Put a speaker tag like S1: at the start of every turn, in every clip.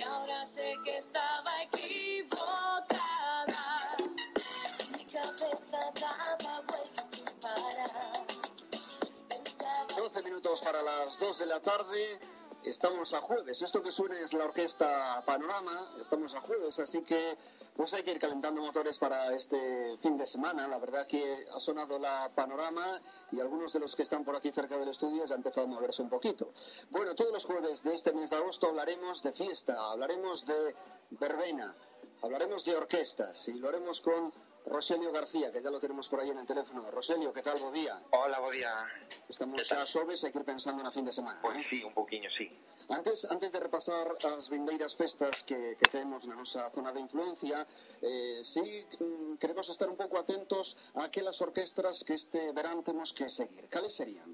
S1: ahora sé que estaba equivocada. Mi cabeza daba vueltas sin parar.
S2: 12 minutos para las 2 de la tarde. Estamos a jueves. Esto que suena es la orquesta Panorama. Estamos a jueves, así que pues hay que ir calentando motores para este fin de semana. La verdad que ha sonado la Panorama y algunos de los que están por aquí cerca del estudio ya han empezado a moverse un poquito. Bueno, todos los jueves de este mes de agosto hablaremos de fiesta, hablaremos de verbena, hablaremos de orquestas y lo haremos con Roselio García, que ya lo tenemos por ahí en el teléfono. Roselio, ¿qué tal? Bo día.
S3: Hola, bo día.
S2: Estamos xa xoves, hai que ir pensando na fin de semana.
S3: Pois sí, un pouquiño, sí.
S2: Antes de repasar as vindeiras festas que temos na nosa zona de influencia, sí, queremos estar un pouco atentos a aquelas orquestras que este verán temos que seguir. Cales serían?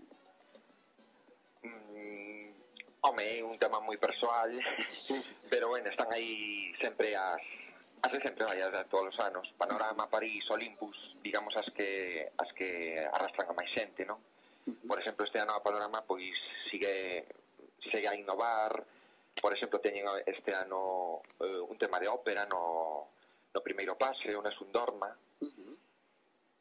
S3: Home, é un tema moi persoal,
S2: sí.
S3: Pero bueno, están aí sempre as de sempre, vaya, de todos os anos. Panorama, París, Olympus, digamos as que arrastran a máis xente, non? Por exemplo, este ano a Panorama pois segue a innovar. Por exemplo, teñen este ano un tema de ópera no primeiro pase, o Nessun Dorma.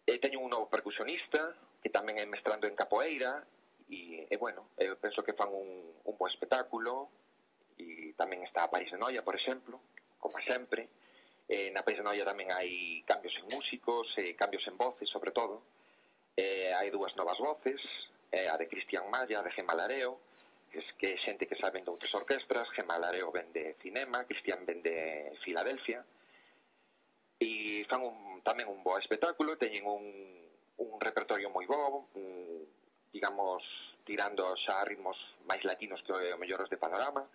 S3: Teñen un novo percusionista que tamén é mestrando en capoeira e bueno, eu penso que fan un bo espectáculo. E tamén está a París de Noia, por exemplo, como sempre. Na París de Noia tamén hai cambios en músicos, cambios en voces, sobre todo. Hai dúas novas voces, a de Cristian Malla, de Gemma Lareo, que é xente que saben de outras orquestras. Gemma Lareo ven de Cinema, Cristian ven de Filadelfia, e fan tamén un bo espectáculo. Teñen un repertorio moi bo, digamos, tirando xa a ritmos máis latinos que o mellor os de Panorama.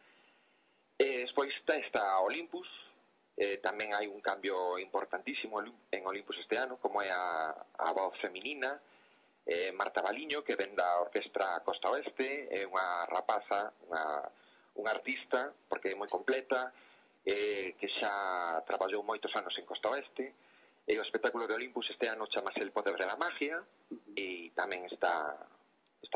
S3: Despois está Olympus. Tamén hai un cambio importantísimo en Olympus este ano, como é a voz feminina, Marta Baliño, que ven da orquestra Costa Oeste. É unha rapaza, unha artista, porque é moi completa, que xa traballou moitos anos en Costa Oeste. E o espectáculo de Olympus este ano chamase El Poder de la Magia, e tamén está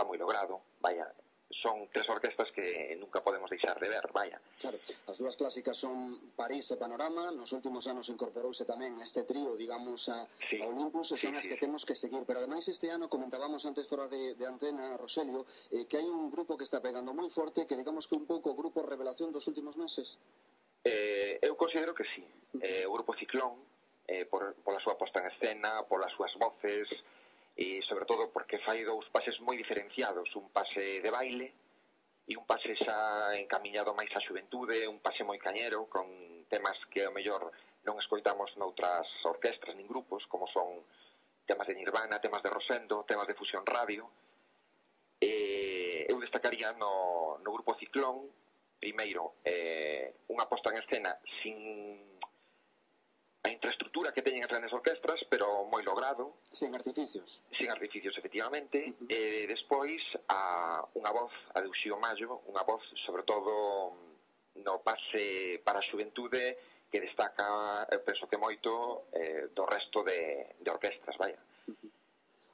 S3: moi logrado, vaya. Son tres orquestas que nunca podemos deixar de ver, vaya.
S2: Claro, as dúas clásicas son París e Panorama. Nos últimos anos incorporouse tamén este trío, digamos, a Olympus, e son as que temos que seguir. Pero ademais este ano comentábamos antes fora de antena, Roselio, que hai un grupo que está pegando moi forte, que digamos que un pouco o grupo revelación dos últimos meses.
S3: Eu considero que sí. O grupo Ciclón, pola súa posta en escena, polas súas voces, e sobre todo porque fai dous pases moi diferenciados, un pase de baile e un pase xa encamiñado máis á xuventude, un pase moi cañero, con temas que ao mellor non escoitamos noutras orquestras nin grupos, como son temas de Nirvana, temas de Rosendo, temas de Fusión Radio. Eu destacaría no grupo Ciclón, primeiro, unha posta en escena sin a infraestructura que teñen as grandes orquestras, pero moi logrado.
S2: Sin artificios.
S3: Sin artificios, efectivamente. Despois, unha voz, a de Uxío Mallo, unha voz, sobre todo, no pase para a xuventude, que destaca, penso que moito, do resto de orquestras, vaya.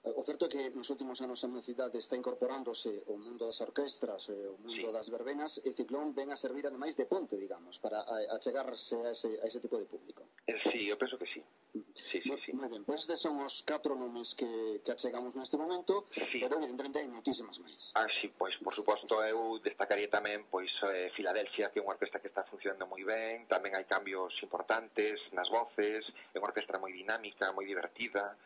S2: O certo é que nos últimos anos a mocidade está incorporándose o mundo das orquestras, o mundo das verbenas, e Ciclón ven a servir ademais de ponte, digamos, para achegarse a ese tipo de público.
S3: Sí, eu penso que sí. Sí.
S2: Moi ben, pois estes son os 4 nomes que achegamos neste momento, pero evidentemente hai moitísimas máis.
S3: Sí, pois, por suposto, eu destacaría tamén pois Filadelfia, que é unha orquesta que está funcionando moi ben. Tamén hai cambios importantes nas voces, é unha orquestra moi dinámica, moi divertida.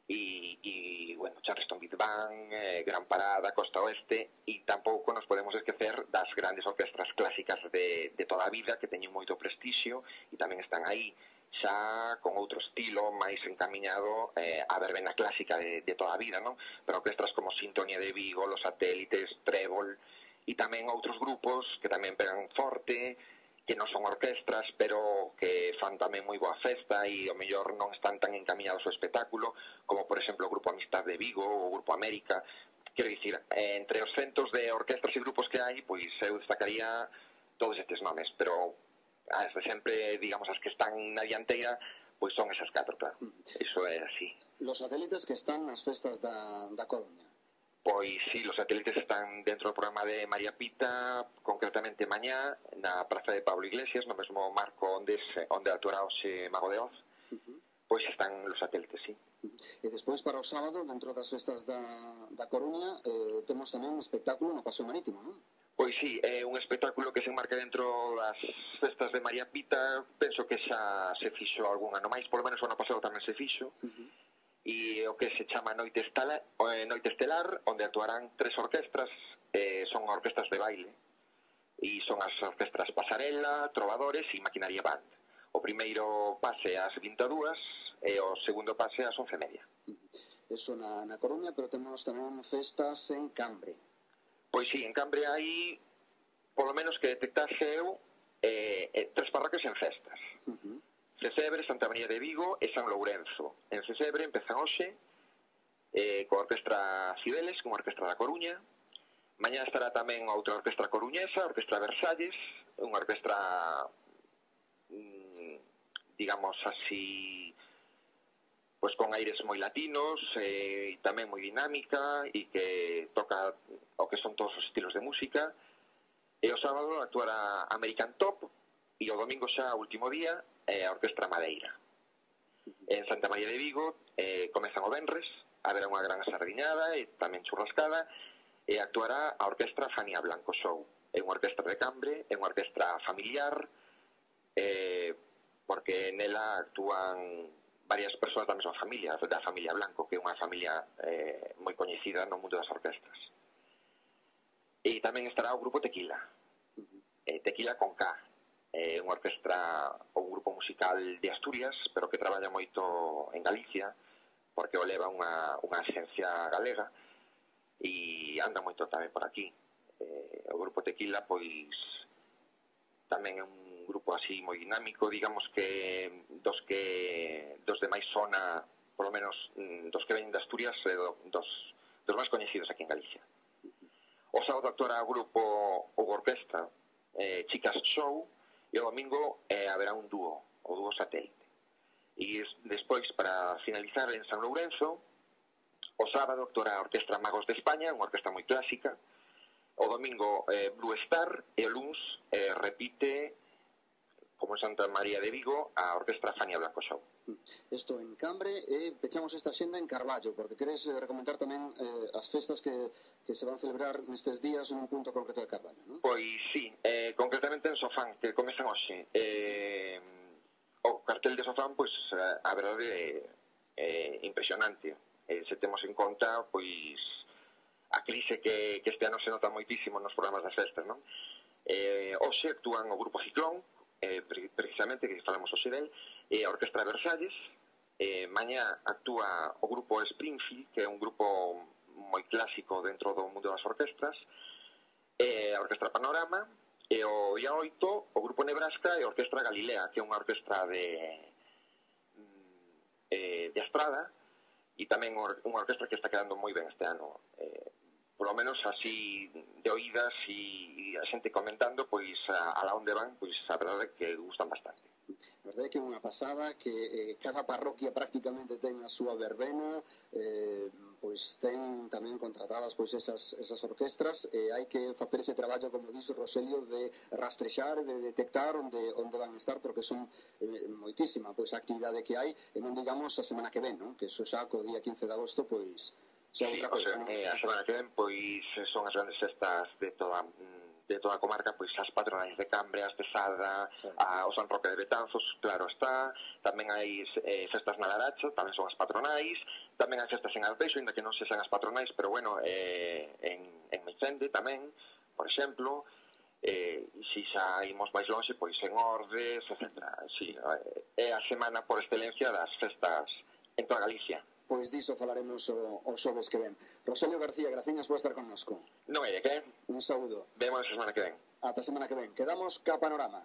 S3: E bueno, Charleston Big Band, Gran Parada, Costa Oeste, e tampouco nos podemos esquecer das grandes orquestras clásicas de toda a vida, que teñen moito prestixio e tamén están aí xa con outro estilo máis encamiñado a verbena clásica de toda a vida, non? Pero orquestras como Sintonía de Vigo, Los Satélites, Trébol, e tamén outros grupos que tamén pegan forte, que non son orquestras, pero que fan tamén moi boa festa e ao mellor non están tan encaminados ao espectáculo, como por exemplo o Grupo Amistad de Vigo ou o Grupo América. Quero dicir, entre os centos de orquestras e grupos que hai, pois eu destacaría todos estes nomes, pero as de sempre, digamos, as que están na dianteira, pois son esas 4, claro. Iso é así.
S2: Los Satélites que están nas festas da Coruña.
S3: Pois sí, los satélites están dentro do programa de María Pita, concretamente mañá, na Praza de Pablo Iglesias, no mesmo marco onde actuará hoxe Mago de Oz, pois están los satélites, sí.
S2: E despois para o sábado, dentro das festas da Coruña, temos tamén un espectáculo no Paseo Marítimo, non?
S3: Pois sí, é un espectáculo que se enmarca dentro das festas de María Pita. Penso que xa se fixo algún ano máis, polo menos o ano pasado tamén se fixo. E o que se chama Noite Estelar, onde actuarán 3 orquestras, son orquestras de baile, e son as orquestras Pasarela, Trovadores e Maquinaria Band. O primeiro pase ás 22 e o segundo pase ás 11:30.
S2: Eso na Coruña, pero temos tamén festas en Cambre.
S3: Pois sí, en Cambre hai, polo menos que detectase eu, 3 parroquias en festas. Cesebre, Santa María de Vigo e San Lourenzo. En Cesebre empezan hoxe coa Orquestra Cibeles, con a Orquestra da Coruña. Mañá estará tamén outra orquestra coruñesa, a Orquestra Versalles, unha orquestra, digamos así, pois con aires moi latinos e tamén moi dinámica e que toca o que son todos os estilos de música. E o sábado actuará American Top e o domingo xa, último día, a Orquestra Madeira. En Santa María de Vigo comezan o venres, haberá unha gran sardiñada e tamén churrascada, e actuará a Orquestra Fania Blanco Show. É unha orquestra de Cambre, é unha orquestra familiar, porque nela actúan varias persoas da mesma familia, da familia Blanco, que é unha familia moi coñecida no mundo das orquestras. E tamén estará o grupo Tequila, Tequila con K, unha orquestra ou un grupo musical de Asturias, pero que traballa moito en Galicia, porque o leva unha axencia galega e anda moito tamén por aquí. O grupo Tequila, pois, tamén é un grupo así moi dinámico, digamos que dos de máis zona, polo menos dos que veñen de Asturias, dos máis coñecidos aquí en Galicia. O sábado actuará o grupo ou orquestra Chicas Show, e o domingo haberá un dúo, o dúo Satélite. E despois, para finalizar, en San Lourenzo, o sábado actuará a Orquestra Magos de España, unha orquestra moi clásica. O domingo Blue Star, e o luns repite, como en Santa María de Vigo, a Orquestra Fania Blanco Show.
S2: Isto en Cambre, e pechamos esta xenda en Carballo, porque queres recomendar tamén as festas que se van celebrar nestes días en un punto concreto de Carballo, non?
S3: Pois sí, concretamente en Sofán, que comezan hoxe. O cartel de Sofán, pois, a verdade é impresionante. Se temos en conta, pois, a crise que este ano se nota moitísimo nos programas das festas, non? Hoxe actúan o Grupo Ciclón, precisamente, que falamos hoxe del, e a Orquestra Versalles. Mañá actúa o Grupo Springfield, que é un grupo moi clásico dentro do mundo das orquestras, a Orquestra Panorama, e o día 8 o Grupo Nebraska e a Orquestra Galilea, que é unha orquestra de Estrada, e tamén unha orquestra que está quedando moi ben este ano. Por lo menos así de oídas e a xente comentando, pois a la onde van, pois a verdade é que gustan bastante.
S2: A verdade é que é unha pasada que cada parroquia prácticamente ten a súa verbena, pois ten tamén contratadas pois esas orquestras, e hai que facer ese traballo, como dixo Roselio, de rastrexar, de detectar onde van estar, porque son moitísima pois a actividade que hai, e non digamos a semana que ven, non? Que eso xa co día 15 de agosto, pois xa outra cosa, non?
S3: A semana que ven, pois son as grandes festas de toda a comarca, pois as patronais de Cambre, as de Sada, o San Roque de Betanzos, claro está. Tamén hai festas na Laracha, tamén son as patronais. Tamén hai festas en Arteixo, ainda que non sexan as patronais, pero bueno, en Meicende tamén, por exemplo. E se xa imos máis longe, pois en Ordes, etc. Sí, é a semana por excelencia das festas en toda Galicia.
S2: Pois diso falaremos o xoves que ven. Roselio García, graciñas por estar connosco.
S3: Non é de que?
S2: Un saúdo.
S3: Vemos a semana que ven.
S2: Ata a semana que ven. Quedamos ca Panorama.